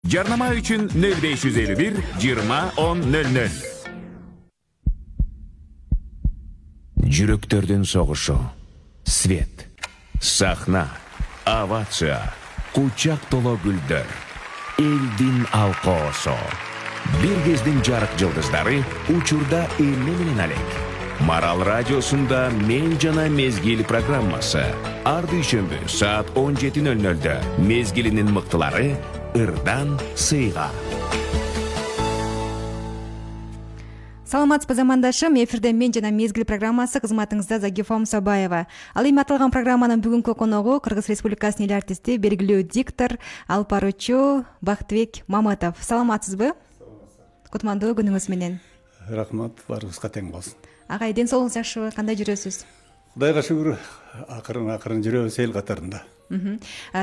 Жарнама үчүн 0551 20 10 00. Жүрөктөрдүн согушу, свет, сахна, овация, кучак толо гүлдөр, элдин алкоосу. Бир кездин жарык жылдыздары учурда эмне менен алек. Марал радиосунда «Мен жана мезгил» программасы. Ар дүйшөмбү саат 17:00-дө мезгилинин мыктылары ырдан сыйга. Саламатсызбы замандашым, эфирде «Мен жана мезгил» программасы, кызматыңызда Загифом Сабаева. Ал эми аталган программанын бүгүнкү коногу Кыргыз Республикасынын эл артисти, белгилүү диктор, алып баруучу Бактыбек Мамытов. Саламатсызбы? Кутмандуу күнүңүз менен. Рахмат, баарыбызга тең болсун. Агай, ден соолугуңуз жакшыбы? Кандай жүрөсүз? Кудайга шүгүр, акырын жүрөбүз эл катарында.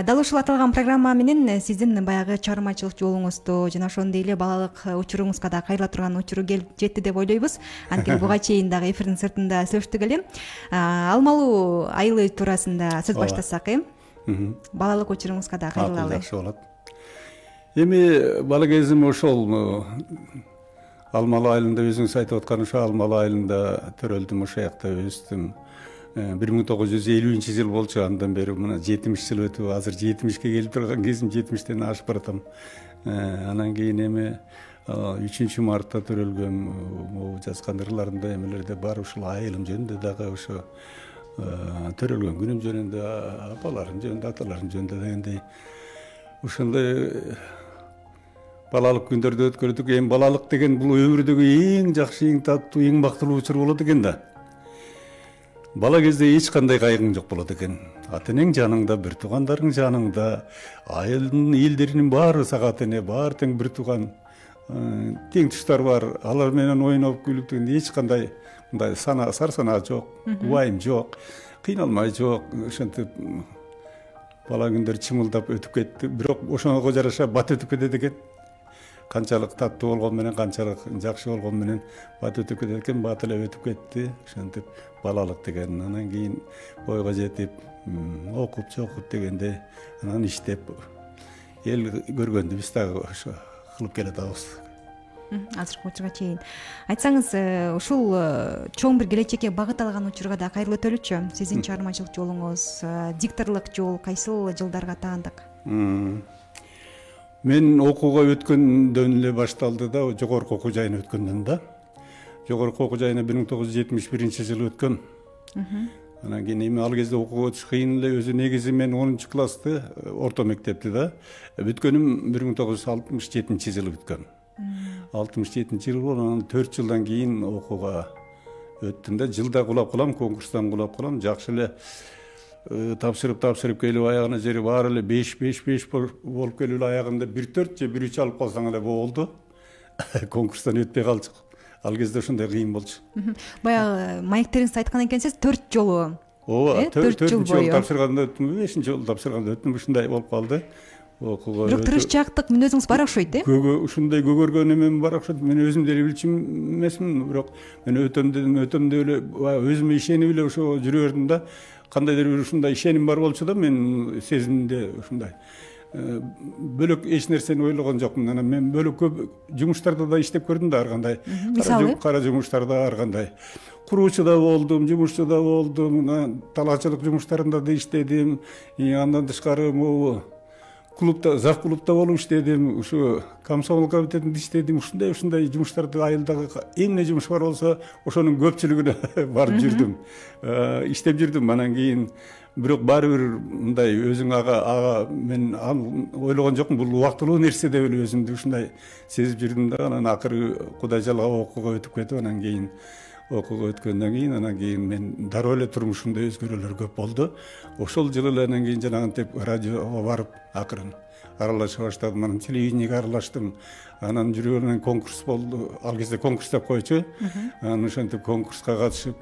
Дал ушул аталган программа менен сиздин баягы чыгармачылык жолуңузду жана ошондой эле балалык учуруңузга да кайрыла турган учуру келип жетти деп ойлойбуз. Анткени буга чейин дагы эфирдин сыртында сүйлөштүк эле. Алмалуу айылы туурасында сөз баштасак, балалык учуруңузга да кайрылалы. Жакшы болот. Эми бала кезим ошол Алмалы айылында, өзүңүз айтып аткан ошо Алмалы айылында төрөлдүм, ошол жакта өстүм. 1950-жыл болчу, андан бери мына 70 жыл өтүп, азыр 70ке келип турган кезим, 70тен ашып баратам. Анан кийин эми 3 мартта төрөлгөм, жазган ырларымда эмелерде бар, ушул айылым жөнүндө дагы, ошо төрөлгөн күнүм жөнүндө, апаларым жөнүндө, аталарым жөнүндө дегендей ошондой балалык күндөрдү өткөрдүк. Эми балалык деген бул өмүрдөгү эң жакшы, эң таттуу, эң бактылуу учур болот экен да. Бала кезде эч кандай кайгың жок болот экен. Ата-энең жаныңда, бир туугандарың жаныңда, айылдын элдеринин баары сага ата-эне, баары тең бир тууган, тең туштар бар. Алар менен ойноп күлүп дегенде эч кандай мындай сар санаа жок, убайым жок, кыйналмай жок. Ошентип бала күндөр чымылдап өтүп кетти. Бирок ошого жараша бат өтүп кетет экен. Канчалык таттуу болгон менен, канчалык жакшы болгон менен бат өтүп кетет экен, бат эле өтүп кетти. Ошентип балалык деген, анан кийин бойго жетип, окуп, чокуп дегенде, анан иштеп, эл көргөндү биз дагы ошо кылып келатабыз. Азыркы учурга чейин. Айтсаңыз, ушул чоң бир келечекке багыт алган учурга да кайрылып өтөлүчү. Сиздин чыгармачылык жолуңуз, дикторлук жол кайсыл жылдарга таандык? Мен окууга өткөндөн эле башталды да, жогорку окуу жайына өткөндөн да. Жогорку окуу жайына 1971-жылы өткөм. Анан кийин эми ал кезде окууга өтүш кыйын эле, өзү негизи мен 10-классты, орто мектепти да бүткөнүм 1967-жылы бүткөм. 67-жылы, анан 4 жылдан кийин окууга өттүм да. Жылда кулап калам, конкурстан кулап калам, жакшы эле тапшырып келип аягына жери баары эле 5 болуп келип аягында 1-4 же 1-3 алып калсаң эле болду. Конкурстан өтпөй калчу. Ал кезде ошондой кыйын болчу. Баягы маектериңизди айткан экенсиз, 4 жолу. Ооба, 4 жыл тапшырганда өттүм, 5-жолу тапшырганда өттүм, ушундай болуп калды. Окууга. Бирок тырышчаактык мүнөзүңүз бар окшойт, Ушундай көгөргөн эмем бар окшойт. Мен өзүм деле билчү эмесмин, бирок мен өтөм деле эле өзүмө ишенип эле ошо жүрө бердим да. Кандайдыр бир ушундай ишеним бар болчу да, мен сезимде ушундай. Бөлөк эч нерсени ойлогон жокмун. Анан мен бөлөк көп жумуштарда да иштеп көрдүм да, ар кандай. Кара жумуштарда ар кандай. Куруучу да болдум, жумушчу да болдум, талаачылык жумуштарында да иштедим. Андан тышкары клубда, зав клубда болуп иштедим, ушу комсомол комитетинде иштедим. Ушундай жумуштарды, айылдагы эмне жумуш бар болсо, ошонун көпчүлүгүнө барып жүрдүм. Иштеп жүрдүм. Анан кийин бирок баары бир мындай өзүң ага мен ойлогон жокмун, бул убактылуу нерсе деп эле өзүмдү ушундай сезип жүрдүм да. Анан акыры Кудай жалгап окууга өтүп кетип, анан кийин окууга өткөндөн кийин, анан кийин мен дароо эле турмушумда өзгөрүүлөр көп болду. Ошол жылы эле анан кийин жанагынтип радиого барып акырын аралаша баштадым. Анан телевидениеге аралаштым. Анан жүргөнүн конкурс болду. Ал кезде конкурс деп койчу. Анан ошентип конкурска катышып,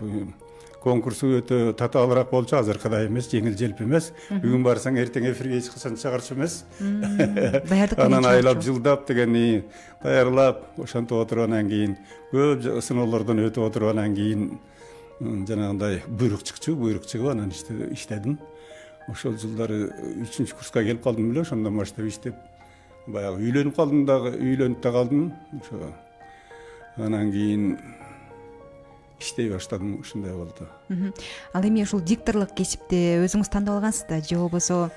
конкурсу өтө татаалыраак болчу, азыркыдай эмес, жеңил желп эмес. Бүгүн барсаң эртең эфирге эч качан чыгарчу эмес. Анан айлап жылдап дегени даярлап, ошентип отуруп, анан кийин көп сыноолордон өтүп отуруп, анан кийин жанагындай буйрук чыгып, анан иштедим. Ошол жылдары 3-курска келип калдым эле, ошондон баштап иштеп баягы үйлөнүп калдым дагы, үйлөнүп да калдым. Ошо анан кийин иштей баштадым, ушундай болду. Ал эми ушул дикторлук кесипти өзүңүз тандап алгансыз да же болбосо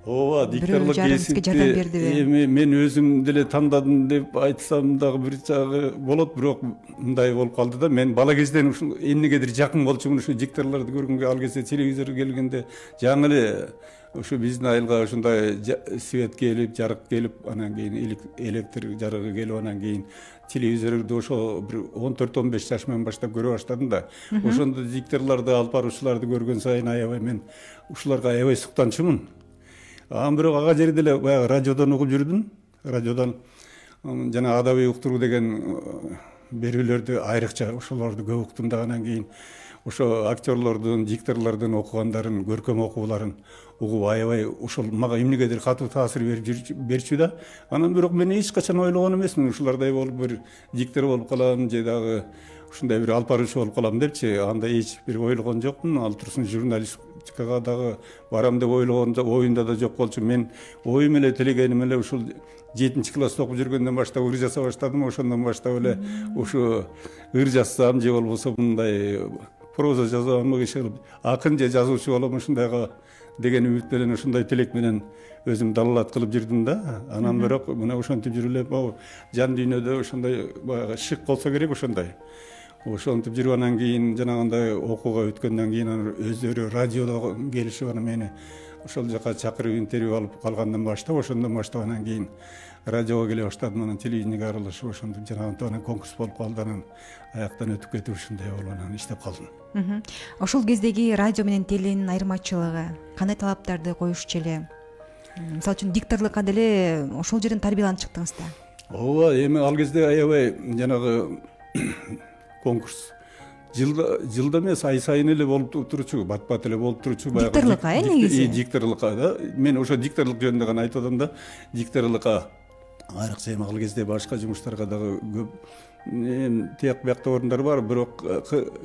ооба, дикторлук кесипти жардам бердиби? Эми мен өзүм деле тандадым деп айтсам дагы бир жагы болот, бирок мындай болуп калды да. Мен бала кезден ушул эмнегедир жакын болчумун, ушу дикторлорду көргөнгө. Ал кезде телевизор келгенде жаңы эле ушу биздин айылга ушундай свет келип, жарык келип, анан кийин электр жарыгы келип, анан кийин телевизорду ошо бир 14-15 жаш менен баштап көрө баштадым да. Ошондо дикторлорду, алып баруучуларды көргөн сайын аябай мен ушуларга аябай суктанчумун. Анан бирок ага жерде эле баягы радиодон угуп жүрдүм. Радиодон жана адабий уктуруу деген берүүлөрдү айрыкча ошолорду көп уктум да. Анан кийин ошо актерлордун, дикторлордун окугандарын, көркөм окууларын угуп аябай ошол мага эмнегедир катуу таасир берчү да. Анан бирок мен эч качан ойлогон эмесмин ушулардай болуп бир диктор болуп калам же дагы ушундай бир алып баруучу болуп калам депчи. Андай эч бир ойлогон жокмун. Ал турсун журналистикага дагы барам деп ойлогон оюнда да жок болчу. Мен оюм эле, тилегеним эле ушул 7-класста окуп жүргөндөн баштап ыр жаса баштадым. Ошондон баштап эле ушу ыр жазсам же болбосо мындай проза жазам, акын же жазуучу болом ушундайга деген үмүт менен, ушундай тилек менен өзүм далалат кылып жүрдүм да. Анан бирок мына ошентип жүрүп эле могу жан дүйнөдө ошондой баягы шык болсо керек ошондой. Ошентип жүрүп анан кийин жанагындай окууга өткөндөн кийин өздөрү радиодо келишип анан мени ошол жака чакырып интервью алып калгандан баштап, ошондон баштап анан кийин радиого келе баштадым. Анан телевидениеге аралашып ошентип жанагынтип анан конкурс болуп калды. Анан аяктан өтүп кетип ушундай болуп анан иштеп калдым. Ошол кездеги радио менен теленин айырмачылыгы кандай талаптарды коюшчу эле? Мисалы үчүн дикторлукка деле ошол жерден тарбияланып чыктыңыз да. Ооба, эми ал кезде аябай жанагы конкурс жылда эмес, ай сайын эле болуп турчу, бат эле болуп турчу. Дикторлукка негизи? Дикторлукка да. Мен ошо дикторлук жөнүндө гана айтып атам да. Дикторлукка айрыкча эми ал кезде башка жумуштарга дагы көп тияк биякта орундар бар, бирок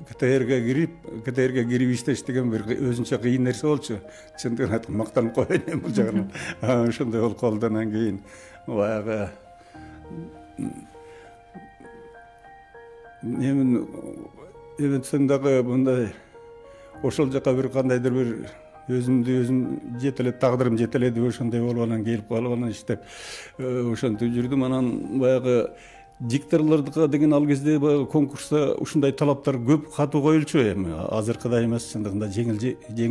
КТРге кирип иштеш деген бир өзүнчө кыйын нерсе болчу. Чындыгын айтып мактанып коеюн эми бул жагынан. Ошондой болуп калды. Анан кийин баягы эметсең дагы мындай ошол жака бир кандайдыр бир өзүм жетелеп, тагдырым жетеледи, ошондой болуп анан келип калып анан иштеп ошентип жүрдүм. Анан баягы дикторлордука деген ал кезде баягы конкурста ушундай талаптар көп катуу коюлчу. Эми азыркыдай эмес, чындыгында жеңил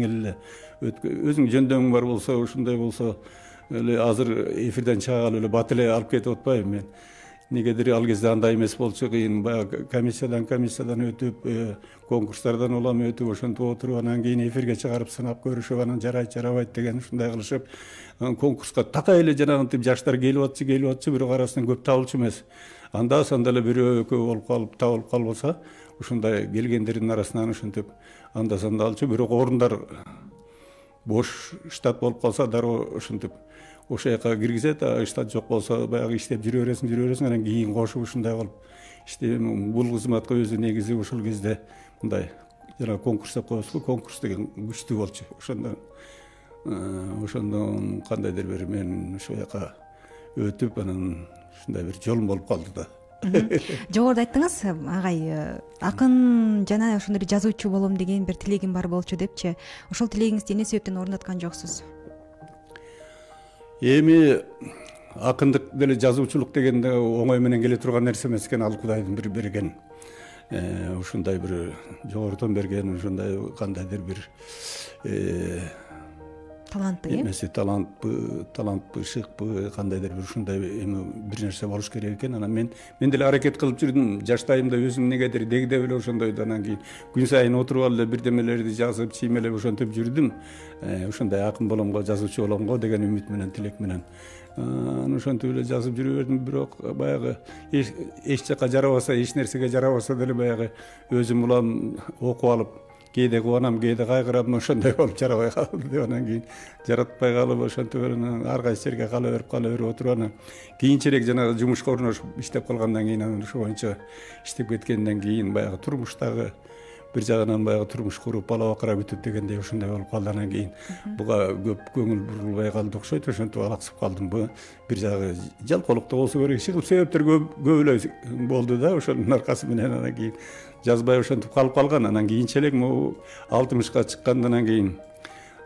эле өзүң жөндөмүң бар болсо, ушундай болсо эле азыр эфирден чыга калып эле бат эле алып кетип атпайбы мен. Негедир ал кезде андай эмес болчу, кыйын баягы комиссиядан өтүп, конкурстардан улам өтүп, ошентип отуруп, анан кийин эфирге чыгарып сынап көрүшүп, анан жарайт жарабайт деген ушундай кылышып, конкурска такай эле жанагынтип жаштар келип атчы, бирок арасынан көп табылчу эмес. Анда санда эле бирөө экөө болуп калып, табылып калбаса, ушундай келгендердин арасынан ошентип анда санда алчу, бирок орундар бош штат болуп калса дароо ошентип ошол жака киргизет, штат жок болсо баягы иштеп жүрө бересиң, анан кийин кошуп ушундай кылып иштеп. Бул кызматка өзү негизи ошол кезде мындай жана конкурс деп коебузбу, конкурс деген күчтүү болчу. Ошондон кандайдыр бир мен ошол жака өтүп, анан ушундай бир жолум болуп калды да. Жогоруда айттыңыз, агай, акын жана ошондой жазуучу болом деген бир тилегим бар болчу депчи. Ошол тилегиңизди эмне себептен орундаткан жоксуз? Эми акындык деле жазуучулук деген оңой менен келе турган нерсе эмес экен. Ал Кудайдын бир берген ушундай бир жогорудон берген ушундай кандайдыр бир талантты эмеси, талантпы, шыкпы, кандайдыр бир ушундай эми бир нерсе болуш керек экен. Анан мен деле аракет кылып жүрдүм. Жаштайымда өзүм негедир дегдеп эле ошондойду. Анан кийин күн сайын отуруп алып эле бирдемелерди жазып, чиймелеп ошентип жүрдүм. Ушундай акын боломго, жазуучу боломго деген үмүт менен, тилек менен. Ошентип эле жазып жүрө бердим. Бирок баягы эч жака жарабаса, эч нерсеге жарабаса деле баягы өзүм улам окуп алып, кээде кубанам, кээде кайгырам, ошондой болуп жарабай калды деп анан кийин жаратпай калып, ошентип анан ар кайсы жерге кала берип отуруп, анан кийинчерээк жанагы жумушка орношуп иштеп калгандан кийин, анан ошо боюнча иштеп кеткенден кийин баягы турмуштагы бир жагынан баягы турмуш куруп бала бакыра күтүп дегендей ошондой болуп калды. Анан кийин буга көп көңүл бурулбай калды окшойт. Ошентип алаксып калдым. Бу бир жагы жалкоолукта болсо керек. Иши кылып себептер көп эле болду да. Ошонун аркасы менен анан кийин жазбай ошентип калып калган. Анан кийинчерээк могу 60ка чыккандан кийин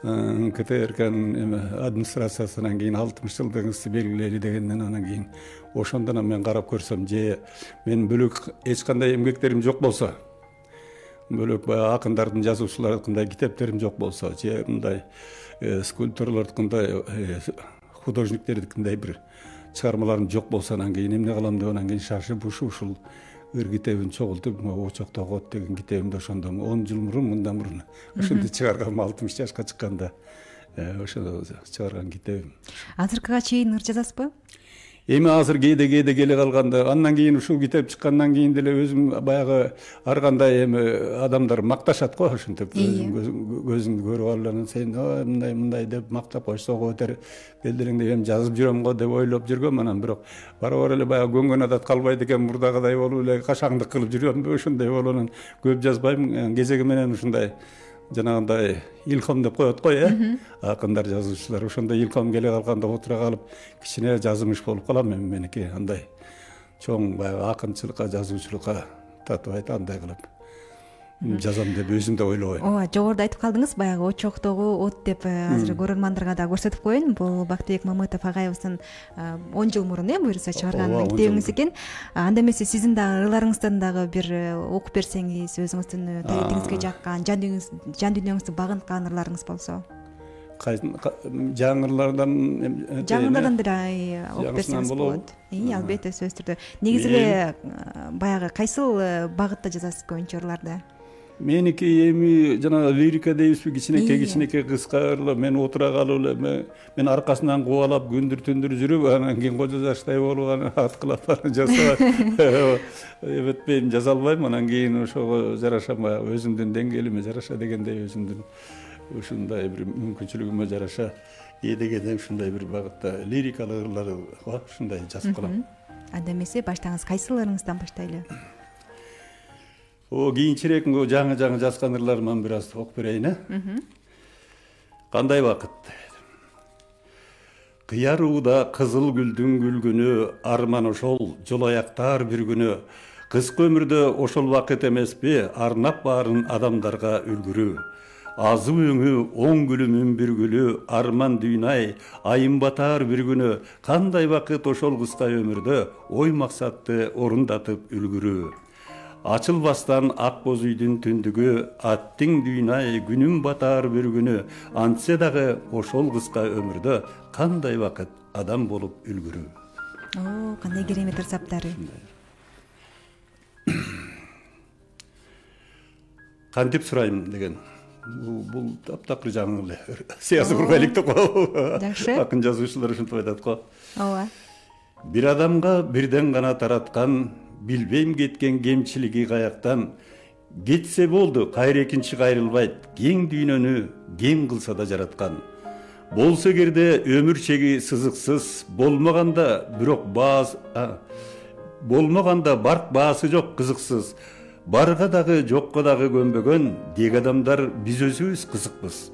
КТРКнын администрациясынан кийин 60 жылдыгыңызды белгилейли дегенден анан кийин ошондон мен карап көрсөм, же мен бөлөк эч кандай эмгектерим жок болсо, бөлөк баягы акындардын, жазуучулардыкындай китептерим жок болсо, же мындай скульпторлордукундай, художниктердикиндей бир чыгармаларым жок болсо, анан кийин эмне кылам деп анан кийин шашып ушул ыр китебин чогултуп, Очокто кот деген китебимди ошондо 10 жыл мурун, мындан мурун ошентип чыгаргам. 60 жашка чыкканда ошо чыгарган китебим. Азыркыга чейин ыр жазасызбы? Эми азыр кээде келе калганда, андан кийин ушул китеп чыккандан кийин деле өзүм баягы ар кандай эми адамдар макташат го, ошентип көзүңдү көрүп алып анан сен мындай деп мактап койсо көтөр белдереңде эми жазып жүрөм го деп ойлоп жүргөм. Анан бирок барабар эле баягы көнгөн адат калбайт экен, мурдагыдай болуп эле кашаңдык кылып жүрөмбү, ошондой болуп анан көп жазбайм. Кезеги менен ушундай жанагындай илхам деп коет го, акындар, жазуучулар. Ошондой илхам келе калганда отура калып кичине жазымыш болуп калам эми меники. Андай чоң баягы акынчылыкка, жазуучулукка татыбайт, андай кылып жазам деп өзүм да ойлобойм. Ооба, жогоруда айтып калдыңыз, баягы Очоктогу от деп азыр көрөрмандарга да көрсөтүп коеюн. Бул Бактыбек Мамытов агайыбыздын 10 жыл мурун буюрса чыгарган китебиңиз экен. Анда эмесе сиздин дагы ырларыңыздан дагы бир окуп берсеңиз, өзүңүздүн табитиңизге жаккан, жан дүйнөңүздү багынткан ырларыңыз болсо. Жаңырлардан деле окуп берсеңиз болот. Албетте, сөзсүз түрдө. Негизи эле баягы кайсыл багытта жазасыз көбүнчө ырларды? Меники эми жана лирика дейбизби, кичинекей кыска ырлар. Мен отура калып эле мен аркасынан кубалап күндүр-түндүр жүрүп, анан кийин кожо жаштай болуп анан аткылап жасап эметпейм, жаза албайм. Анан кийин ошого жараша өзүмдүн деңгээлиме жараша дегендей, өзүмдүн ушундай бир мүмкүнчүлүгүмө жараша дегенде ушундай бир багытта лирикалык ырлар ушундай жазып калам. Анда эмесе баштаңыз, кайсыл ырыңыздан баштайлы? Кийинчерээк жаңы жазган ырларыман бир аз окуп берейин. Кандай бакыт? Кыярууда кызыл гүлдүн күлгүнү, арман ошол жол аяктар бир күнү. Кыска өмүрдө ошол бакыт эмеспи, арнап баарын адамдарга үлгүрүү. Азы өңү, оң гүлүмүн бир гүлү, арман дүйнай, айым батар бир күнү. Кандай бакыт ошол кыска өмүрдө, ой максатты орундатып үлгүрүү. Ачылбастан ак боз үйдүн түндүгү, аттың дүйнай, күнүм батар бир күнү. Антсе дагы ошол кыска өмүрдө, кандай бакыт адам болуп үлгүрүү. Кандай керемет ырсаптары. Кантип сурайм деген. Бул таптакыр жаңы эле сыясы кургайлыктык го. Жакшы. Акын жазуучулар ушинтип айтат го. Ооба. Бир адамга бирден гана тараткан, билбейм кеткен кемчилиги каяктан. Кетсе болду, кайра экинчи кайрылбайт, кең дүйнөнү кем кылса да жараткан. Болсо эгерде өмүр чеги сызыксыз, болмоганда барк баасы жок кызыксыз. Барга дагы жокко дагы көнбөгөн, дег адамдар биз өзүбүз кызыкпыз.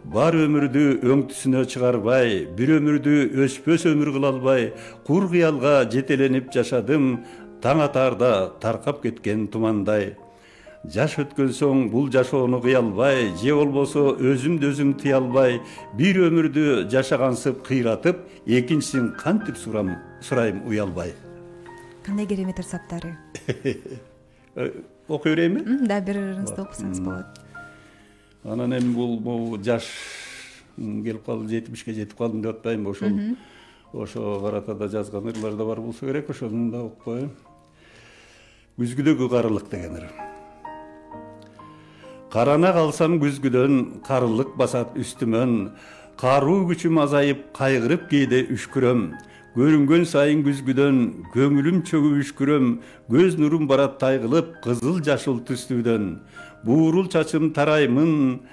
Бар өмүрдү өңтүсүнө чыгарбай, бир өмүрдү өчпөс өмүр кыла албай, кур кыялга жетеленип жашадым, таң атаарда таркап кеткен тумандай. Жаш өткөн соң бул жашоону кыя албай, же болбосо өзүмдү өзүм тыя албай, бир өмүрдү жашагансып кыйратып, экинчисин кантип сурайм уялбай. Кандай керемет ырсаптары. Окуй берейинби? Да, бир ырыңызды окусаңыз болот. Анан эми бул жаш келип калды, 70ке жетип калдым деп атпайбы, ошого карата да жазган ырлар да бар болсо керек, ошону да окуп коеюн. Күзгүдөгү карылык деген ыр. Карана калсам күзгүдөн, карылык басат үстүмөн, каруу күчүм азайып, кайгырып кээде үшкүрөм. Көрүнгөн сайын күзгүдөн, көңүлүм чөгүп үшкүрөм, көз нурум барат тайгылып, кызыл жашыл түстүүдөн. Буурул чачым тараймын,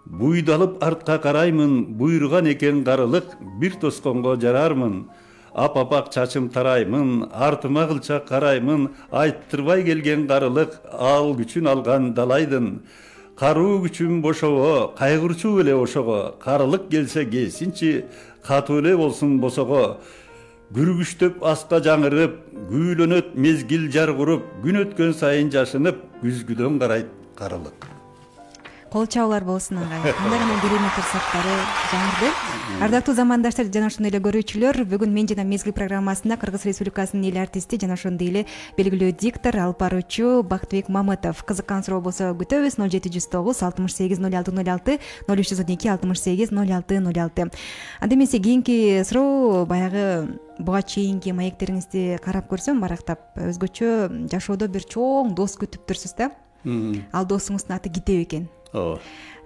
буйдалып артка караймын, буйруган экен карылык, бир тосконго жарармын. Апапак чачым тараймын, артыма кылчак караймын, айттырбай келген карылык, ал күчүн алган далайдын. Каруу күчүм бошого, кайгырчуу эле ошого, карылык келсе келсинчи, катуу эле болсун босого. Күргүчтөп аска жаңырып, күүлөнөт мезгил жар куруп, күн өткөн сайын жашынып, күзгүдөн карайт карылык. Кол чабуулар болсун ага. Кандай гана керемет ырсаттары жаңырды. Ардактуу замандаштар жана ошондой эле көрүүчүлөр, бүгүн мен жана Мезгил программасында Кыргыз Республикасынын эл артисти жана ошондой эле белгилүү диктор, алып баруучу Бактыбек Мамытов. Кызыккан суроо болсо күтөбүз. 0709 68 06 06 0312 68 06 06. Анда эмесе кийинки суроо баягы буга чейинки маектериңизди карап көрсөм, барактап өзгөчө жашоодо бир чоң дос күтүп турсуз да. Ал досуңуздун аты Китеп экен.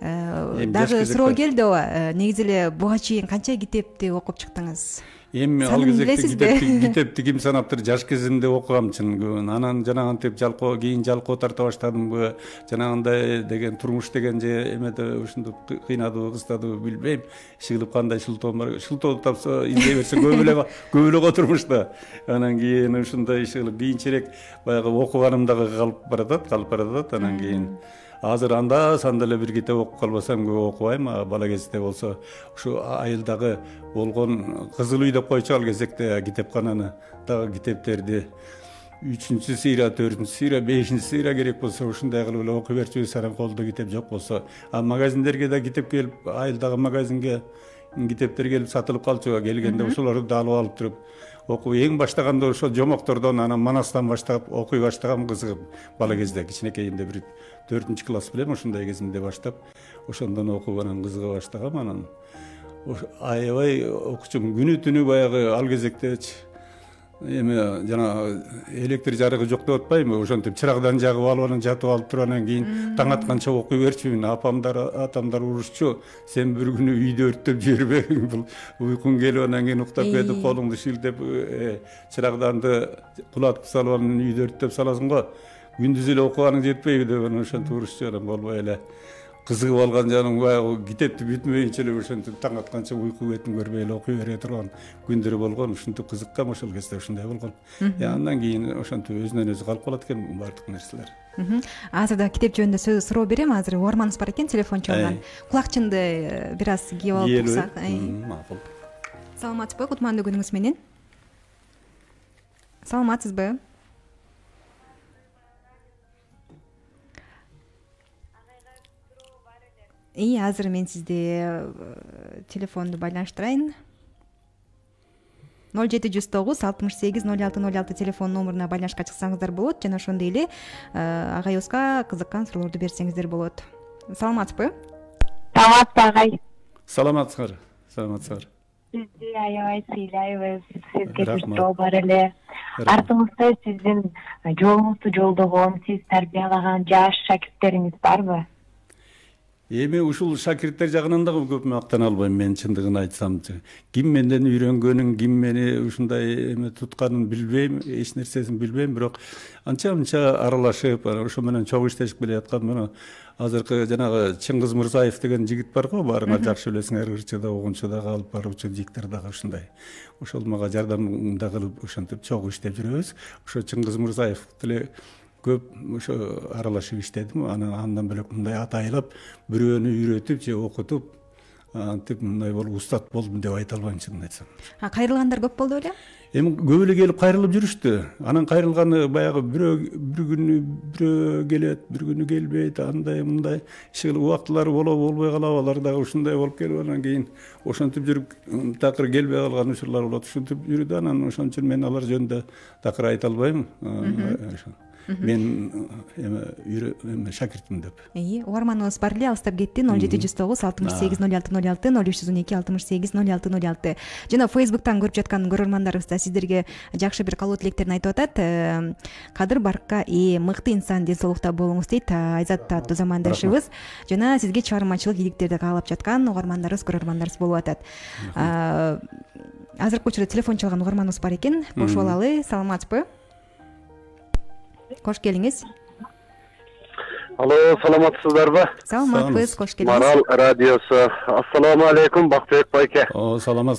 Дагы суроо келди ооба. Негизи эле буга чейин канча китепти окуп чыктыңыз? Эми ал кезекте китепти ким санаптыр, жаш кезимде окугам чын. Анан жанагынтип кийин жалкоо тарта баштадымбы, жанагындай деген турмуш деген же эмеде ушинтип кыйнадыбы, кыстадыбы билбейм. Иши кылып кандай шылтоо бар, шылтоо тапса издей берсе көп эле турмушта. Анан кийин ушундай иши кылып кийинчерээк баягы окуганым дагы калып баратат. Анан кийин азыр анда санда эле бир китеп окуп калбасам көп окубайм. Бала кезде болсо ушу айылдагы болгон Кызыл үй деп койчу ал кезекте китепкананы, дагы китептерди 3-чү сыйра, 4-чү сыйра, 5-чи сыйра керек болсо ушундай кылып эле окуп берчүбүз. Анан колдо китеп жок болсо, магазиндерге да китеп келип, айылдагы магазинге китептер келип сатылып калчу. Келгенде ошолорду да алып туруп окуп, эң баштаганда ошо жомоктордон, анан Манастан баштап окуй баштагам, кызыгып. Бала кезде кичинекейимде бир 4-чү класс билем, ошондой кезимде баштап, ошондон окуп анан кызыга баштагам. Анан аябай окучумун. Күнү түнү баягы ал кезектечи эме жана электр жарыгы жок деп атпайбы, ошентип чырагдан жагып алып анан жатып алып туруп анан кийин таң атканча окуй берчүмүн. Апамдар, атамдар урушчу. Сен бир күнү үйдү өрттөп жибербе, бул уйкуң келип анан кийин уктап кетип колуңду шилтеп чырагданды кулатып салып анан үйдү өрттөп саласың го. Күндүз эле окуганың жетпейби деп анан ошентип урушчу. Анан болбой эле кызыгып алган жаным баягы китепти бүтмөйүнчө эле ошентип таң атканча уйку бетин көрбөй эле окуй бере турган күндөр болгон. Ушинтип кызыккам ошол кезде, ушундай болгон. Андан кийин ошентип өзүнөн өзү калып калат экен баардык нерселер. Азыр да китеп жөнүндө суроо берем. Азыр угарманыбыз бар экен, телефон чалган. Кулакчынды бир аз кийип алып турсак. Макул. Саламатсызбы? Кутмандуу күнүңүз менен. Саламатсызбы? Азыр мен сизди телефонду байланыштырайын. 0709 68 06 06 телефон номуруна байланышка чыксаңыздар болот, жана ошондой эле агайыбызга кызыккан суроолорду берсеңиздер болот. Саламатсызбы? Саламатсызбы агай. Саламатсыздар. Сизди аябай сыйлайбыз. Сизге бир суроо бар эле. Артыңызда сиздин жолуңузду жолдогон, сиз тарбиялаган жаш шакирттериңиз барбы? Эми ушул шакирттер жагынан дагы көп мактана албайм мен, чындыгын айтсам. Ким менден үйрөнгөнүн, ким мени ушундай эме тутканын билбейм, эч нерсесин билбейм, бирок анча аралашып, ошо менен чогуу иштешип келаткан. Мына азыркы жанагы Чыңгыз Мырзаев деген жигит бар го, баарыңар жакшы билесиңер, ырчыда, огунчуда алып баруучу диктор дагы ушундай. Ошол мага жардам да кылып ошентип чогуу иштеп жүрөбүз. Ошо Чыңгыз Мырзаев деле көп ошо аралашып иштедим. Андан бөлөк мындай атайлап бирөөнү үйрөтүп же окутуп антип мындай болуп устат болдум деп айта албайм, чынын айтсам. Кайрылгандар көп болду беле? Эми көп эле келип кайрылып жүрүштү. Анан кайрылганы баягы бир күнү келет, бир күнү келбейт, андай мындай иши кылып убактылары болбой калат. Алар дагы ушундай болуп келип анан кийин ошентип жүрүп такыр келбей калган учурлар болот. Ушинтип жүрдү. Анан ошон үчүн мен алар жөнүндө такыр айта албайм. Мен эме шакиртмин деп. Угарманыбыз бар эле, алыстап кетти. 0709 68 06 06 0312 68 06 06. Жана Facebook'тан көрүп жаткан көрөрмандарыбыз да сиздерге жакшы бир каалоо тилектерин айтып атат. Кадыр баркка мыкты инсан, ден соолукта болуңуз дейт Айзат аттуу замандашыбыз. Жана сизге чыгармачылык ийгиликтерди каалап жаткан угармандарыбыз, көрөрмандарыбыз болуп атат. Азыркы учурда телефон чалган угарманыбыз бар экен. Кошуп алалы. Саламатсызбы? Кош келиңиз. Алло, саламатсыздарбы? Саламатпыз, кош келиңиз. Марал радиосу. Ассаламу алейкум, Бактыбек байке. Саламат.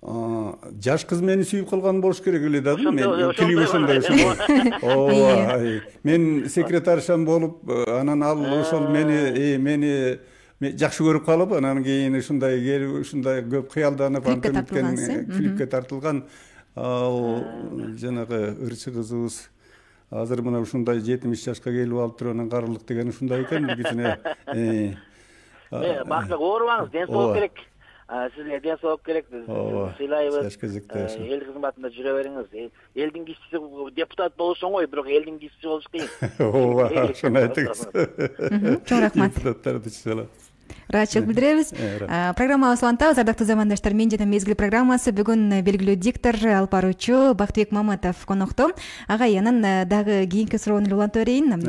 жаш кыз мени сүйүп калган болуш керек эле да. Мен клип ошондой. Ооба. Мен секретаршам болуп, анан ал ошол мени жакшы көрүп калып, анан кийин ушундай келип, ушундай көп кыялданып, клипке тартылган ал жанагы ырчы кызыбыз азыр мына ушундай 70 жашка келип алып туруп, анан карылык деген ушундай экен кичине. Бактык оорубаңыз, ден соолук керек. Сизге ден соолук керек. Биз сыйлайбыз. Эл кызматында жүрө бериңиз. Элдин кишиси депутат болуш оңой, бирок элдин кишиси болуш кыйын. Ооба, ошону айтыңыз. Чоң рахмат. Депутаттарды чыгала. ыраазычылык билдиребиз. Программабызды улантабыз. Ардактуу замандаштар, Мен жана мезгил программасы бүгүн белгилүү диктор, алып баруучу Бактыбек Маматов конокто. Агай, анан дагы кийинки суроону эле уланта берейин.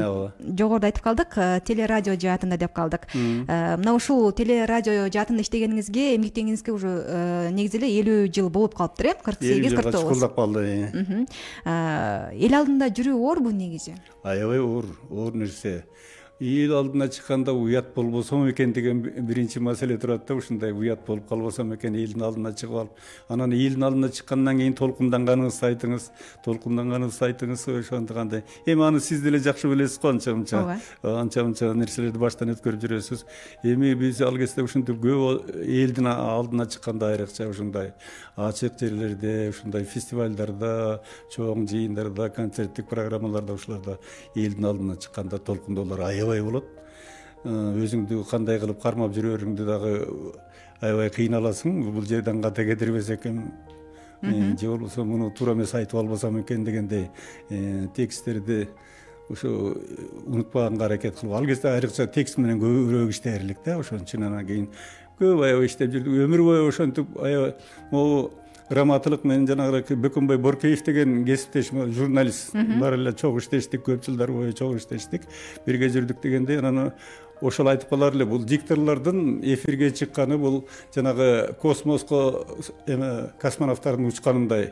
Жогоруда айтып калдык, телерадио жаатында деп калдык. Мына ушул телерадио жаатында иштегениңизге, эмгектениңизге уже негизи эле 50 жыл болуп калыптыр, 48-49. Чукулдап калды. Эл алдында жүрүү оорбу негизи? Аябай оор нерсе. Эл алдына чыкканда уят болбосом экен деген биринчи маселе турат да. Ушундай уят болуп калбасам экен элдин алдына чыгып алып, анан элдин алдына чыккандан кийин толкунданганыңызды айтыңыз, ошондой. Эми аны сиз деле жакшы билесиз го, анча нерселерди баштан өткөрүп жүрөсүз. Эми биз ал кезде ушинтип көп элдин алдына чыкканда, айрыкча ушундай ачык жерлерде, ушундай фестивалдарда, чоң жыйындарда, концерттик программаларда, ушуларда элдин алдына чыкканда толкундоолор аябай болот. Өзүңдү кандай кылып кармап жүрөрүңдү дагы аябай кыйналасың. Бул жерден ката кетирбесек экен, же болбосо муну туура эмес айтып албасам экен дегендей тексттерди ошо унутпаганга аракет кылып, ал кезде айрыкча текст менен көбүрөөк иштээрлик да. Ошон үчүн анан кийин көп аябай иштеп жүрдүк. Өмүр бою ошентип аябай могу раматылык менен жанагы Бөкөнбай Боркеев деген кесиптешим журналист бар эле, чогуу иштештик, көп жылдар бою чогуу иштештик, бирге жүрдүк дегенде анан ошол айтып калар эле, бул дикторлордун эфирге чыкканы бул жанагы космоско космонавттардын учканындай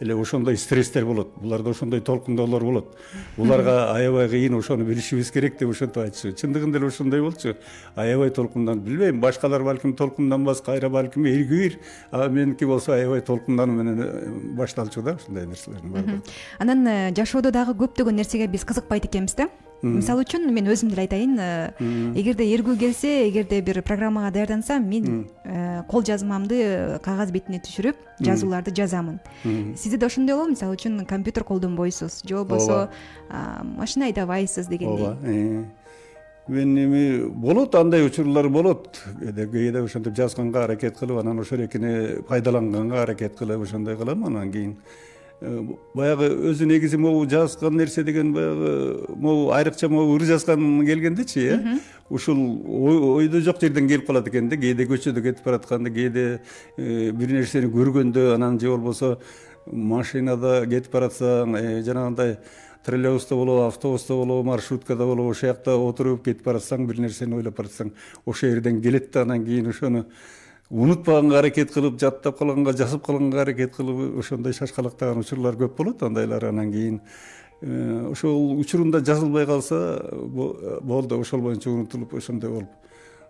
эле, ошондой стресстер болот. Буларда ошондой толкундоолор болот. Буларга аябай кыйын, ошону билишибиз керек деп ошентип айтчу. Чындыгында эле ошондой болчу. Аябай толкундан, билбейм, башкалар балким толкунданбас, кайра балким эргир, меники болсо аябай толкундануу менен башталчу да, ушундай нерселердин баардыгы. Анан жашоодо дагы көптөгөн нерсеге биз кызыкпайт экенбиз да. Мисалы үчүн мен өзүм деле айтайын, эгерде эргүү келсе, эгерде бир программага даярдансам, мен кол жазмамды кагаз бетине түшүрүп, жазууларды жазамын. Сизде да ошондой болобу? Мисалы үчүн компьютер колдонбойсуз, же болбосо машина айдабайсыз дегендей. Ооба. Мен эми болот, андай учурлар болот. Кээде ошентип жазганга аракет кылып, анан ошол экини пайдаланганга аракет кылып, ошондой кылам. Анан кийин баягы өзү негизи могу жазган нерсе деген баягы могу айрыкча могу ыр жазган келгендечи, ушул ойдо жок жерден келип калат экен да. Кээде көчөдө кетип баратканда, кээде бир нерсени көргөндө, анан же болбосо машинада кетип баратсаң, жанагындай троллейбуста болобу, автобуста болобу, маршруткада болобу, ошол жакта отуруп кетип баратсаң, бир нерсени ойлоп баратсаң, ошол жерден келет да, анан кийин ошону унутпаганга аракет кылып, жаттап калганга, жазып калганга аракет кылып, ошондой шашкалактаган учурлар көп болот. Андайлар анан кийин ошол учурунда жазылбай калса болду, ошол боюнча унутулуп, ошондой болуп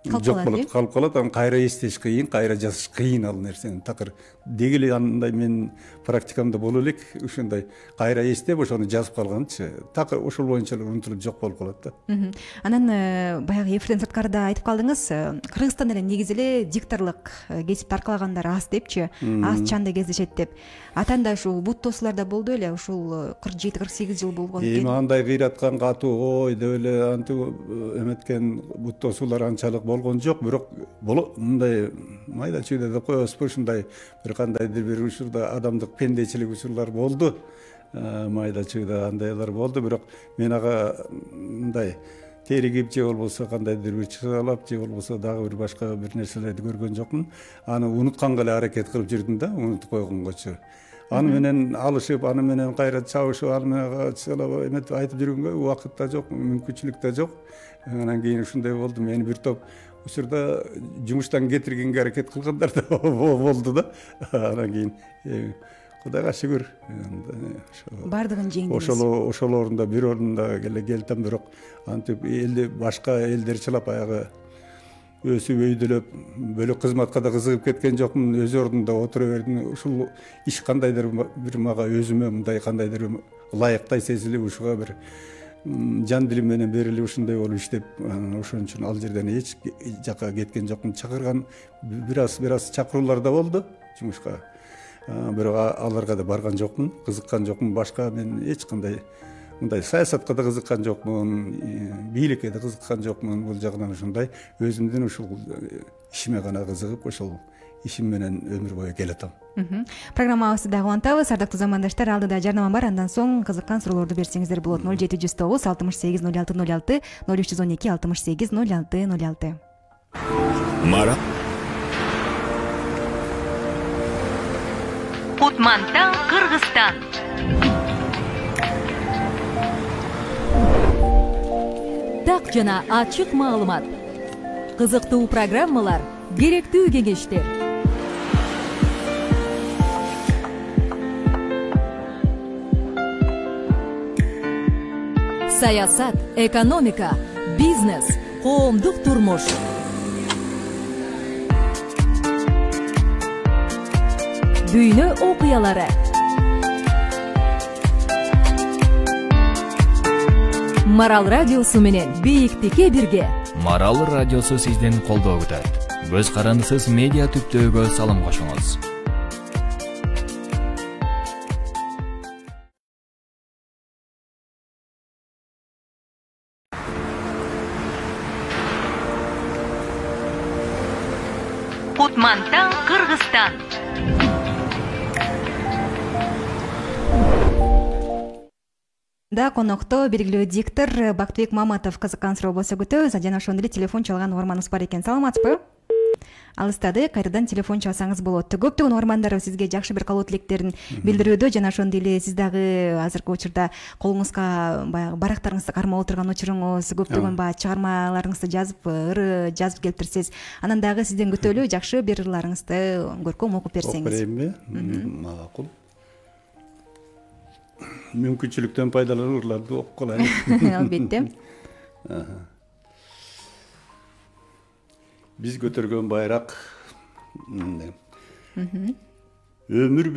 жок болот, калып калат. Анан кайра эстеш кыйын, кайра жазыш кыйын ал нерсени. Такыр деги эле андай мен практикамда боло элек, ушундай кайра эстеп ошону жазып калганчы, такыр ошол боюнча эле унутулуп жок болуп калат да. Анан баягы эфирден сырткарыда айтып калдыңыз, Кыргызстанда эле негизи эле дикторлук кесипти аркалагандар аз депчи, аз чанда кездешет деп. Атанда ушул бут тосууларда болду эле, ушул 47-48 жыл болгон экен. Эми андай кыйраткан катуу ой деп эле антип эметкен бут тосуулар анчалык болгон жок, бирок мындай майда чүйдө деп коебузбу, ушундай бир кандайдыр бир учурда адамдык пендечилик учурлар болду, майда чүйдө андайлар болду. Бирок мен ага мындай теригип же болбосо кандайдыр бир чыгалап же болбосо дагы бир башка бир нерселерди көргөн жокмун. Аны унутканга эле аракет кылып жүрдүм да, унутуп койгонгочу. Аны менен алышып, аны менен кайра чабышып, аны менен чыгалап эметип айтып жүргөнгө убакыт да жок, мүмкүнчүлүк да жок. Анан кийин ушундай болду. Мени бир топ учурда жумуштан кетиргенге аракет кылгандар да болду да. Анан кийин Кудайга шүгүр, бардыгын жеңдиңиз. Ошол орунда бир орунда эле келдим, бирок антип элди башка элдер чылап аягы өсүп өйдөлөп бөлөк кызматка да кызыгып кеткен жокмун. Өз ордунда отура бердим. Ушул иш кандайдыр бир мага өзүмө мындай кандайдыр ылайыктай сезилип, ушуга бир жан дилим менен берилип ушундай болуп иштеп, ошон үчүн ал жерден эч жака кеткен жокмун. Чакырган бир аз чакыруулар да болду жумушка. Бирок аларга да барган жокмун, кызыккан жокмун. Башка мен эч кандай мындай саясатка да кызыккан жокмун, бийликке да кызыккан жокмун. Бул жагынан ушундай өзүмдүн ушул ишиме гана кызыгып, ошол ишим менен өмүр бою келатам. Программабызды да улантабыз. Ардактуу замандаштар, алдыда жарнама бар, андан соң кызыккан суроолорду берсеңиздер болот. 0709 68 06 06 0312 68 06 06. Кутмантан, Кыргызстан. Так жана ачык маалымат. Кызыктуу программалар, керектүү кеңештер. Саясат, экономика, бизнес, коомдук турмуш. Дүйнө окуялары. Марал радиосу менен бийиктикке бирге. Марал радиосу сиздин колдоо күтөт. Көз карандысыз медиа түптөөгө салым кошуңуз. Кутмантан, Кыргызстан. Да, конокто белгилүү диктор Бактыбек Маматов кызыккан суроо болсо күтөбүз. Жана ошондой эле телефон чалган угарманыбыз бар экен. Саламатсызбы? Алыстады, кайрадан телефон чалсаңыз болот. Көптөгөн угармандар сизге жакшы бир каалоо тилектерин билдирүүдө, жана ошондой эле сиз дагы азыркы учурда колуңузга баягы барактарыңызды кармап отурган учуруңуз, көптөгөн баягы чыгармаларыңызды жазып, ыры жазып келиптирсиз. Анан дагы сизден күтөлүү жакшы бир ырларыңызды көркөм окуп берсеңиз. Окуп берейинби? Макул. Мүмкүнчүлүктөн пайдаланып ырларды окуп калайын. Албетте. Биз көтөргөн байрак өмүр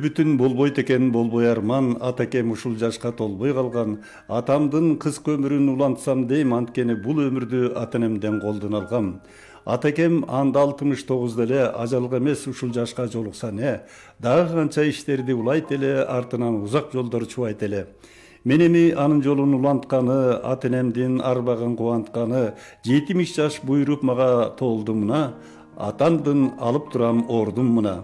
бүтүн болбойт экен болбой арман, атакем ушул жашка толбой калган, атамдын кыска өмүрүн улантсам дейм, анткени бул өмүрдү ата энемден колдон алгам. Атакем анда 69 эле, ажалга эмес ушул жашка жолукса не, дагы канча иштерди улайт эле, артынан узак жолдор чубайт эле. Мен эми анын жолун улантканы, ата энемдин арбагын кубантканы, 70 жаш буйруп мага толду мына, атамдын алып турам ордун мына.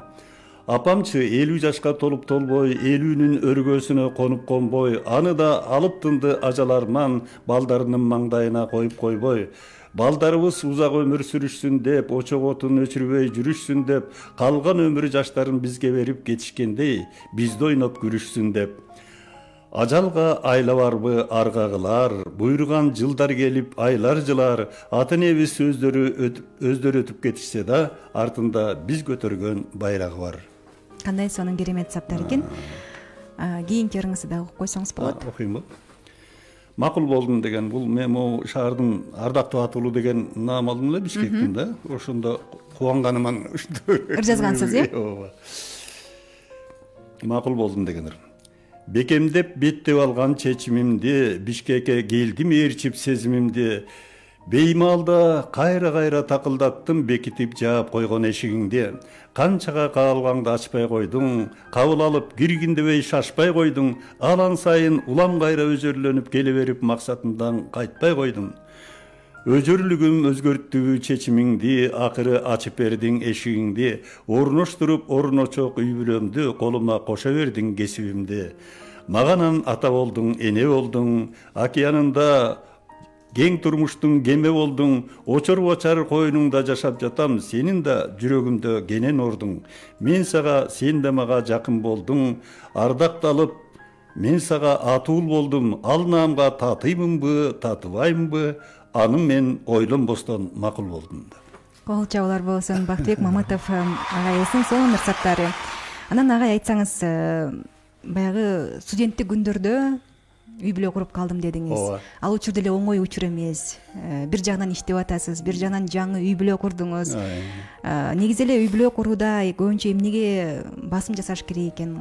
Апамчы 50 жашка толуп толбой, 50-нүн өргөсүнө конуп конбой, аны да алып тынды ажал арман, балдарынын маңдайына коюп койбой. Балдарыбыз узак өмүр сүрүшсүн деп, очок отун өчүрбөй жүрүшсүн деп, калган өмүр жаштарын бизге берип кетишкендей, бизди ойноп күрүшсүн деп. Ажалга айла барбы аргагылар, буйруган жылдар келип айлар жылар, ата энебиз өздөрү өтүп кетишсе да, артында биз көтөргөн байрагы бар. Кандай сонун керемет саптар экен. Кийинки ырыңызды да окуп койсоңуз болот. Окуймун. Макул болдум деген бул мен могу шаардын ардактуу атуулу деген наам алдым эле Бишкектин да. Ошондо кубанганыман ыр жазгансыз, э? Ооба. Макул болдум деген ыр. Бекемдеп беттеп алган чечимимди, Бишкекке келдим ээрчип сезимимди. Беймалда кайра такылдаттым, бекитип жаап койгон эшигиңди. Канчага каалгаңды ачпай койдуң, кабыл алып киргин дебей шашпай койдуң. Алан сайын улам кайра өзөрлөнүп келе берип максатымдан кайтпай койдуң. Өзөрлүгүм өзгөрттү чечимиңди, акыры ачып бердиң эшигиңди. Орноштуруп орночок үй бүлөмдү, колума кошо бердиң кесибимди. Маганан ата болдуң, эне болдуң, океанында кең турмуштун кеме болдуң, очор бочар койнуңда жашап жатам, сенин да жүрөгүмдө кенен ордуң. Мен сага, сен да мага жакын болдуң, ардакталып, мен сага атуул болдум, ал наамга татыймынбы, татыбаймынбы, аны мен ойлонбостон макул болдум. Кол чабуулар болсун, Бактыбек Маматов агайыбыздын сонун ырсаттары. Анан агай айтсаңыз, баягы студенттик күндөрдө үй бүлө куруп калдым дедиңиз. Ал учур деле оңой учур эмес. Бир жагынан иштеп атасыз, бир жагынан жаңы үй бүлө курдуңуз. Негизи эле үй бүлө курууда көбүнчө эмнеге басым жасаш керек экен?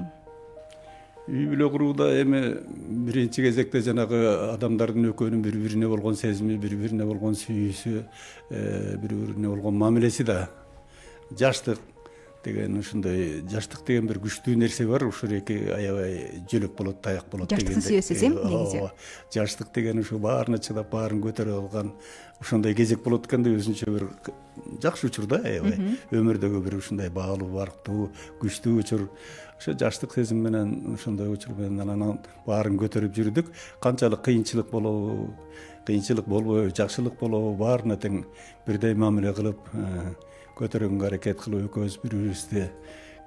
Үй бүлө курууда эми биринчи кезекте жанагы адамдардын экөөнүн бири бирине болгон сезими, бири бирине болгон сүйүүсү, бири бирине болгон мамилеси да. Жаштык деген ушундай, жаштык деген бир күчтүү нерсе бар, ушул эки аябай жөлөк болот, таяк болот дегендей. Жаштыктын сүйөөсүз негизи. Жаштык деген ушу баарына чыдап, баарын көтөрө алган ошондой кезек болот экен да, өзүнчө бир жакшы учур да, аябай. Өмүрдөгү бир ушундай баалуу, барктуу, күчтүү учур. Ошо жаштык сезим менен, ошондой учур менен анан баарын көтөрүп жүрдүк. Канчалык кыйынчылык болобу, кыйынчылык болбойбу, жакшылык болобу, баарына тең бирдей мамиле кылып, көтөргөнгө аракет кылып, экөөбүз бири бирибизди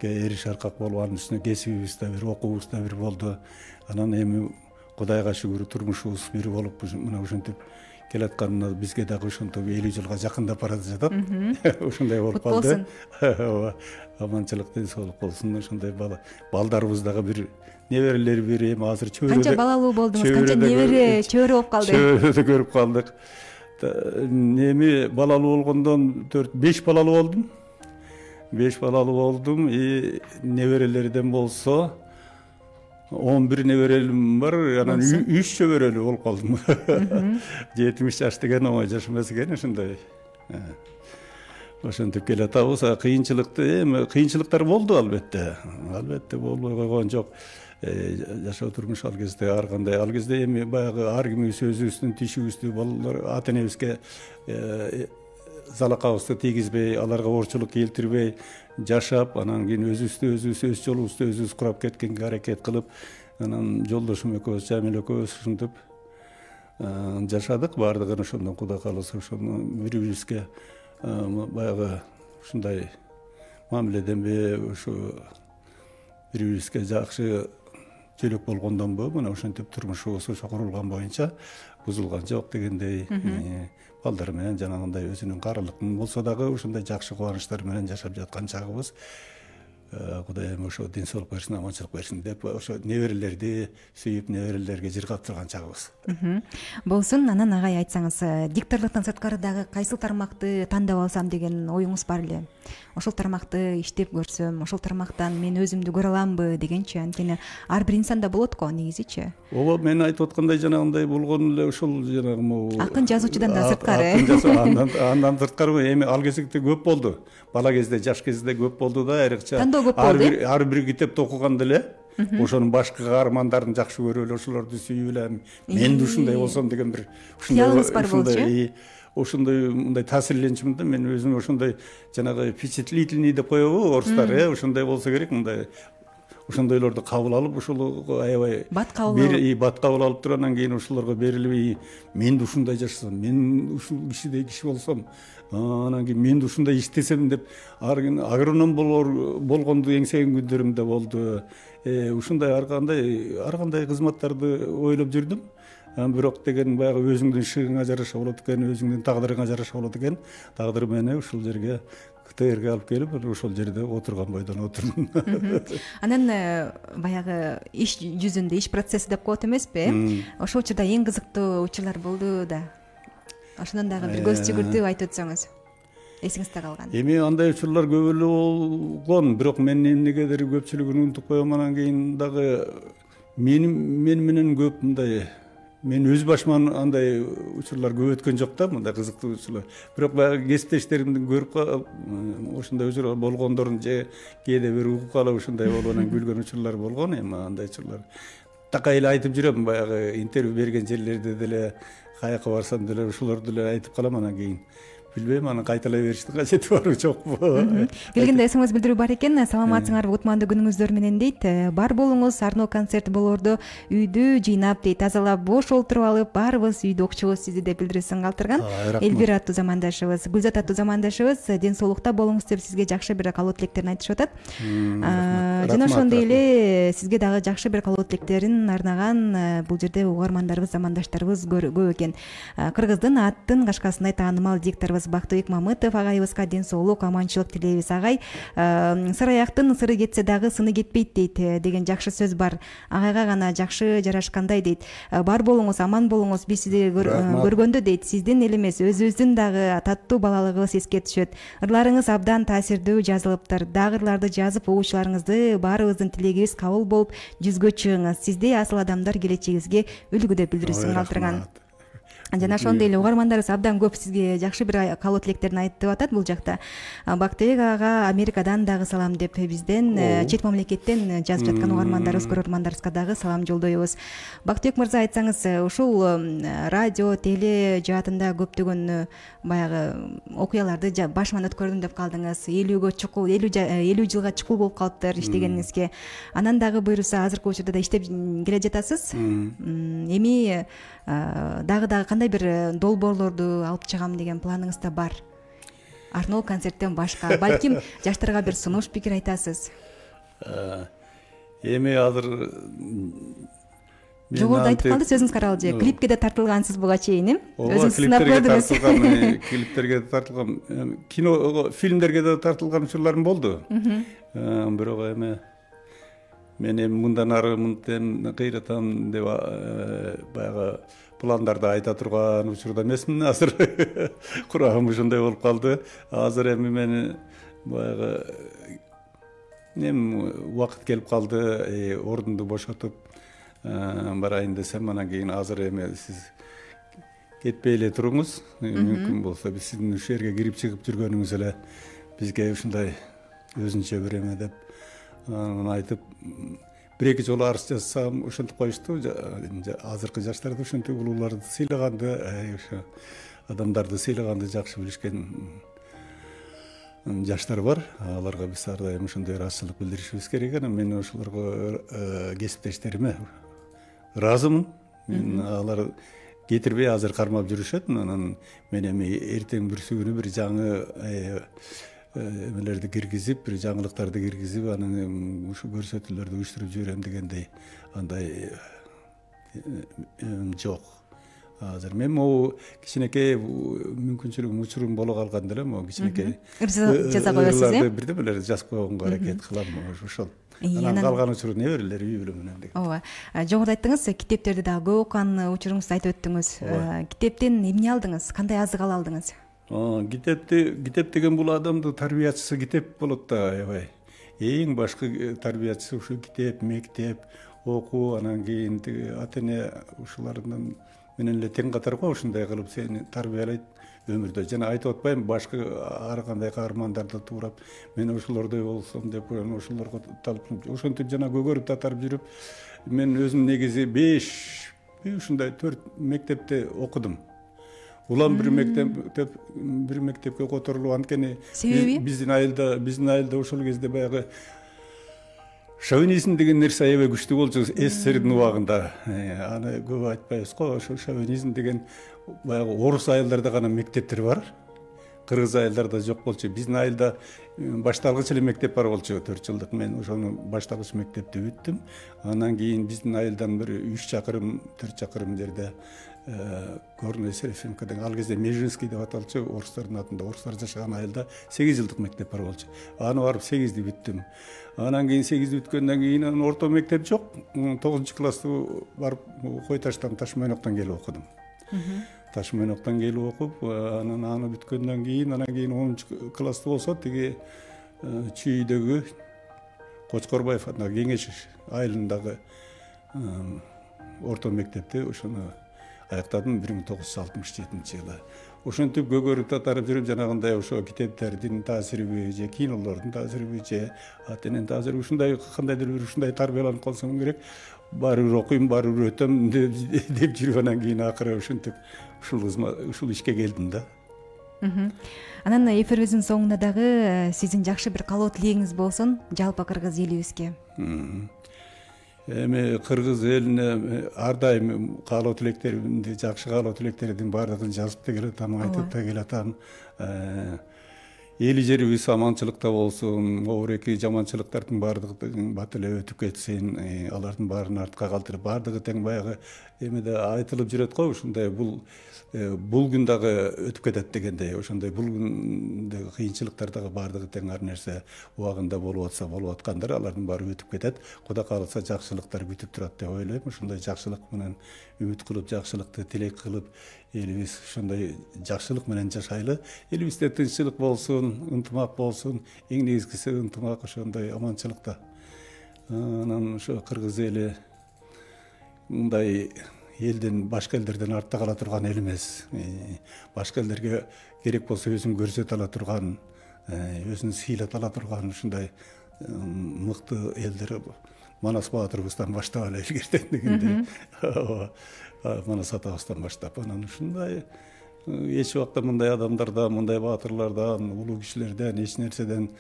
эриш аркак болуп, анын үстүнө кесибибиз да бир, окуубуз да бир болду. Анан эми Кудайга шүгүр турмушубуз бир болуп, мына ушинтип келатканына бизге дагы ошентип 50 жылга жакындап барат жатат. Ошондой болуп калды. Ооба. Аманчылык, ден-соолук болсун. Ошондой балдарыбыз дагы бир, неберелер бир, эми азыр чөбөрө. Канча балалуу болдуңуз? Канча небере, чөбөрө болуп калды? Чөбөрөдө көрүп калдык. Эми балалуу болгондон 4-5 балалуу болдум. 5 балалуу болдум. Неберелерден болсо 11 неберелим бар, анан 3 чөбөрөлүү болуп калдым. 70 жаш деген оңой жаш эмес экен, ошондой. Ошентип келатабыз. Кыйынчылыкты, эми кыйынчылыктар болду албетте. Албетте болбой койгон жок. Жашоо турмуш ал кезде ар кандай, ал кезде эми баягы ар кимибиз өзүбүздүн тишибизди, балдар, ата-энебизге залакабызды тийгизбей, аларга оорчулук келтирбей жашап, анан кийин өзүбүз өз жолубузду өзүбүз курап кеткенге аракет кылып, анан жолдошум экөөбүз, Жамил экөөбүз ушинтип жашадык. Баардыгын ошондон Кудай кааласа ошону бири-бирибизге баягы ушундай мамиледенби, ушу бири-бирибизге жакшы жөлөк болгондонбу, мына ошентип турмушубуз ошо курулган боюнча бузулган жок дегендей. Балдар менен жанагындай өзүнүн каралыктын болсо дагы ушундай жакшы кубанычтар менен жашап жаткан чагыбыз. Кудайым ошо ден соолук берсин, аманчылык берсин деп, ошо неберелерди сүйүп, неберелерге жыргап турган чагыбыз. Болсун. Анан агай айтсаңыз, дикторлуктан сырткары дагы кайсыл тармакты тандап алсам деген оюңуз бар эле? Ошол тармакты иштеп көрсөм, ошол тармактан мен өзүмдү көрө аламбы дегенчи, анткени ар бир инсанда болот го негизичи. Ооба, мен айтып аткандай жанагындай болгон эле ушул жанагы акын жазуучудан да сырткары. Андан сырткары эми ал кезекте көп болду. Бала кезде, жаш кезде көп болду да, айрыкча. Ар бир китепти окуганда эле ошонун башкы каармандарын жакшы көрүп эле, ошолорду сүйүп эле, мен да ушундай болсом деген бир кыялыңыз бар болчу. Ошондой мындай таасирленчүмүн да, мен өзүм ошондой жанагы впечатлительный деп коебу орустар, ошондой болсо керек, мындай ошондойлорду кабыл алып, ошол аябай бат кабыл алып туруп, анан кийин ошолорго берилбей, мен да ушундай жашасам, мен ушул кишидей киши болсом, анан кийин мен да ушундай иштесем деп, агроном болгонду эңсеген күндөрүм да болду. Ушундай ар кандай кызматтарды ойлоп жүрдүм. Бирок деген баягы өзүңдүн шыгыңа жараша болот экен, өзүңдүн тагдырыңа жараша болот экен. Тагдыр мени ушул жерге, КТРге алып келип, ошол жерде отурган бойдон отурдум. Анан баягы иш жүзүндө, иш процесси деп коет эмеспи? Ошол учурда эң кызыктуу учурлар болду да. Ошондон дагы бир көз жүгүртүп айтып өтсөңүз, эсиңизде калган. Эми андай учурлар көп эле болгон, бирок мен эмнегедир көпчүлүгүн унутуп коем. Анан кийин дагы мен менен көп мындай, мен өз башыма андай учурлар көп өткөн жок да, мындай кызыктуу учурлар. Бирок баягы кесиптештеримдин көрүп ошондой учурлар болгондорун же кээде бир угуп калып ушундай болуп анан күлгөн учурлар болгон. Эми андай учурлар такай эле айтып жүрөм, баягы интервью берген жерлерде деле, каяка барсам деле ушуларды эле айтып калам. Анан кийин билбейм, анан кайталай бериштин кажети барбы жокпу. Келгенде эсиңиз билдирүү бар экен. Саламатсыңарбы, кутмандуу күнүңүздөр менен дейт. Бар болуңуз, Арно концерт болоорду үйдү жыйнап дейт, тазалап бош олтуруп алып, баарыбыз үйдү окчубуз сизди деп билдирүүсүн калтырган. Элвира аттуу замандашыбыз, Гүлзат аттуу замандашыбыз ден соолукта болуңуз деп сизге жакшы бир каалоо тилектерин айтышып атат. Жана ошондой эле сизге дагы жакшы бир каалоо тилектерин арнаган бул жерде угармандарыбыз, замандаштарыбыз көп экен. Кыргыздын аттын кашкасындай таанымал дикторубуз башчыбыз Бактыбек Мамытов агайыбызга ден соолук, аманчылык тилейбиз. Агай, сыр аяктын сыры кетсе дагы сыны кетпейт дейт деген жакшы сөз бар. Агайга гана жакшы жарашкандай дейт. Бар болуңуз, аман болуңуз. Биз сизди көргөндө дейт, сиздин эле эмес, өзүбүздүн дагы таттуу балалыгыбыз эске түшөт. Ырларыңыз абдан таасирдүү жазылыптыр. Дагы ырларды жазып угуучуларыңызды баарыбыздын тилегибиз кабыл болуп жүзгө чыгыңыз. Сизде асыл адамдар келечегибизге үлгү деп билдирүүсүн калтырган. Жана ошондой эле угармандарыбыз абдан көп сизге жакшы бир каалоо тилектерин айтып атат бул жакта. Бактыбек ага Америкадан дагы салам деп бизден чет мамлекеттен жазып жаткан угармандарыбыз, көрөрмандарыбызга дагы салам жолдойбуз. Бактыбек мырза, айтсаңыз, ушул радио, теле жаатында көптөгөн баягы окуяларды башыман өткөрдүм деп калдыңыз. 50 жылга чукул болуп калыптыр иштегениңизге. Анан дагы буйруса азыркы учурда да иштеп келе жатасыз. Эми дагы кандай бир долбоорлорду алып чыгам деген планыңыз да бар? Арноо концерттен башка, балким жаштарга бир сунуш пикир айтасыз. Эми азыр жогоруда айтып калды, сөзүңүз каралды же. Клипке да тартылгансыз буга чейин, өзүңүз сынап көрдүңүз. Клиптерге да тартылган, кино, фильмдерге да тартылган учурларым болду. Бирок эми мен эми мындан ары мынтен кыйратам деп баягы пландарды айта турган учурда эмесмин азыр. Курагым ушундай болуп калды. Азыр эми мен баягы убакыт келип калды, ордунду бошотуп барайын десем, анан кийин азыр эми сиз кетпей эле туруңуз, мүмкүн болсо биз сиздин ушул жерге кирип чыгып жүргөнүңүз эле бизге ушундай өзүнчө бир эме деп айтып, бир-эки жолу арыз жазсам ошентип коюшту. Азыркы жаштарды ошентип улууларды сыйлаганды, ошо адамдарды сыйлаганды жакшы билишкен жаштар бар. Аларга биз ар дайым ошондой ыраазычылык билдиришибиз керек. Анан мен ошолорго кесиптештериме ыраазымын. Алар кетирбей азыр кармап жүрүшөт. Анан мен эми эртең бүрсү күнү бир жаңы эмелерди киргизип, бир жаңылыктарды киргизип, анан ушу көрсөтүүлөрдү уюштуруп жиберем дегендей андай жок. Азыр мен могу кичинекей мүмкүнчүлүгүм, учурум боло калганда эле могу кичинекей жаза коесуз, бирдемелерди жазып койгонго аракет кылам ошол. Анан калган учуру неберелер үй бүлө менен деген. Ооба. Жогоруда айттыңыз, китептерди дагы көп окуган учуруңузду айтып өттүңүз. Китептен эмне алдыңыз? Кандай азык ала алдыңыз? Китеп деген бул адамдын тарбиячысы китеп болот да, аябай. Эң башкы тарбиячысы ушу китеп, мектеп, окуу, анан кийин ата-эне ушулардын менен эле тең катар го, ушундай кылып сени тарбиялайт өмүрдө. Жана айтып атпайм, башкы ар кандай каармандарды туурап, мен ошолордой болсом деп, ошолорго талпынып, ошентип жана көгөрүп татарып жүрүп, мен өзүм негизи 5 ушундай 4 мектепте окудум. Улам бир мектепке которулуп, анткени биздин айылда ошол кезде баягы шовинизм деген нерсе аябай күчтүү болчу СССРдин убагында. Аны көп айтпайбыз го, ошо шовинизм деген баягы орус айылдарда гана мектептер бар. Кыргыз айылдарда жок болчу. Биздин айылда башталгыч эле мектеп бар болчу, 4 жылдык. Мен ошону башталгыч мектепти бүттүм. Анан кийин биздин айылдан бир 3 чакырым, 4 чакырым жерде Горный Серефимка деген, ал кезде Межинский деп аталчу, орустардын атында, орустар жашаган айылда 8 жылдык мектеп бар болчу. Аны барып 8ди бүттүм. Анан кийин 8ди бүткөндөн кийин орто мектеп жок. 9-классты барып Кой Таштан, Ташмайноктон келип окудум. Ташмайноктон келип окуп, анан аны бүткөндөн кийин, анан кийин 10-классты болсо тиги Чүйдөгү Кочкорбаев атындагы Кеңеш айылындагы орто мектепти ошону аяктадым 1967-жылы. Ошентип көгөрүп татарып жүрүп, жанагындай ошо китептердин таасириби же кинолордун таасириби же ата-эненин таасириби ушундай кандайдыр бир ушундай тарбияланып калсам керек. Баары бир окуйм, баары бир өтөм деп жүрүп, анан кийин акыры ушинтип ушул ишке келдим да. Анан эфирибиздин соңунда дагы сиздин жакшы бир каалоо тилегиңиз болсун жалпы кыргыз элибизге. Эми кыргыз элине ар дайым каалоо тилектеримди, жакшы каалоо тилектердин баардыгын жазып да келатам, айтып да келатам. эли жерибиз аманчылыкта болсун, обуреки жаманчылыктардын баардыгы бат эле өтүп кетсин, алардын баарын артка калтырып, баардыгы тең баягы эмеде айтылып жүрөт го, ушундай бул күн дагы өтүп кетет дегендей, ошондой бул күндөгү кыйынчылыктар дагы баардыгы тең ар нерсе убагында болуп атса болуп аткандыр, алардын баары өтүп кетет. Кудай кааласа жакшылыктар күтүп турат деп ойлойм. Ошондой жакшылык менен үмүт кылып, жакшылыкты тилек кылып, элибиз ошондой жакшылык менен жашайлы. Элибизде тынччылык болсун, ынтымак болсун. Эң негизгиси ынтымак, ошондой аманчылыкта. Анан ошо кыргыз эли мындай элден, башка элдерден артта кала турган эл эмес. Башка элдерге керек болсо өзүн көрсөтө ала турган, өзүн сыйлата ала турган ушундай мыкты элдер Манас баатырыбыздан баштап эле илгертен дегенде, Манас атабыздан баштап, анан ушундай эч убакта мындай адамдардан, мындай баатырлардан, улуу кишилерден, эч нерседен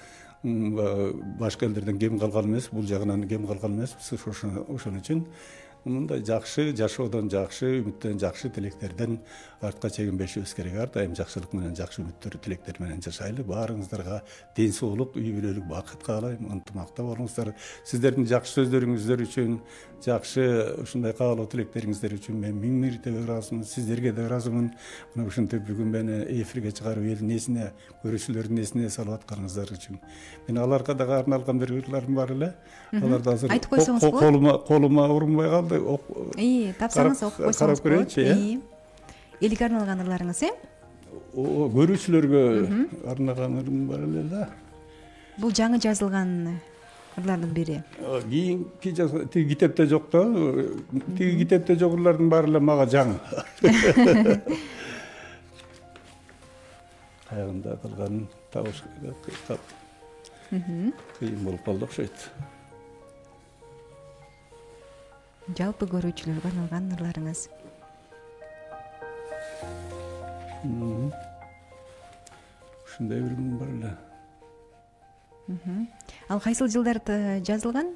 башка элдерден кем калган эмес, бул жагынан кем калган эмеспиз. Ошон үчүн мындай жакшы жашоодон, жакшы үмүттөн, жакшы тилектерден артка чегинбешибиз керек. Ар дайым жакшылык менен, жакшы үмүттөр, тилектер менен жашайлы. Баарыңыздарга ден соолук, үй бүлөлүк бакыт каалайм. Ынтымакта болуңуздар. Сиздердин жакшы сөздөрүңүздөр үчүн, жакшы ушундай каалоо тилектериңиздер үчүн мен миң мирдей ыраазымын. Сиздерге да ыраазымын. Мына ушинтип бүгүн мени эфирге чыгарып элдин эсине, көрүүчүлөрдүн эсине салып атканыңыздар үчүн. Мен аларга дагы арналган бир ырларым бар эле. Аларды азыр айтып койсоңуз болот. Колума урунбай калды. Тапсаңыз окуп койсоңуз болот. Элге арналган ырларыңыз, көрүүчүлөргө арнаган ырым бар эле да. Бул жаңы жазылган ырлардын бири. Кийинки тиги китепте жок да. Тиги китепте жок ырлардын баары эле мага жаңы. Кайгында калганын табыш кыйын болуп калды окшойт. Жалпы көрүүчүлөргө арналган ырларыңыз. Ушундай бир бар эле. Ал кайсыл жылдарда жазылган?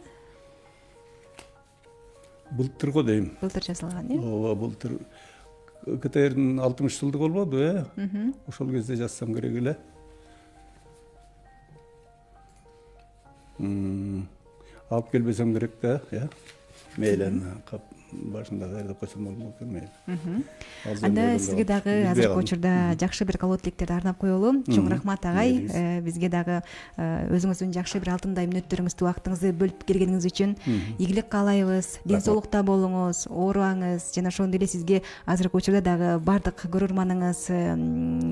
Былтыр го дейм. Былтыр жазылган, Ооба, былтыр КТРдин 60 жылдыгы болбоду, Ошол кезде жазсам керек эле. Алып келбесем керек да, мейли башында даярдап койсом болмок экен. Анда сизге дагы азыркы учурда жакшы бир каалоо тилектерди арнап коелу. Чоң рахмат агай. Бизге дагы өзүңүздүн жакшы бир алтындай мүнөттөрүңүздү, убактыңызды бөлүп келгениңиз үчүн ийгилик каалайбыз. Ден соолукта болуңуз, оорубаңыз. Жана ошондой эле сизге азыркы учурда дагы бардык көрөрманыңыз,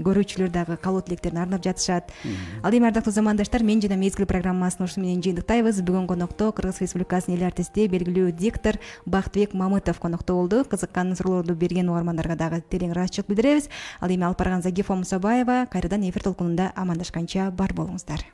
көрүүчүлөр дагы каалоо тилектерин арнап жатышат. Ал эми ардактуу замандаштар, мен жана мезгил программасын ушуну менен жыйынтыктайбыз. Бүгүн конокто Кыргыз Республикасынын эл артисти, белгилүү диктор Бактыбек Мамытов конокто болду. Кызыккан суроолорду берген угармандарга дагы терең ыраазычылык билдиребиз. Ал эми алып барган Загифа Мусабаева кайрадан эфир толкунунда амандашканча бар болуңуздар.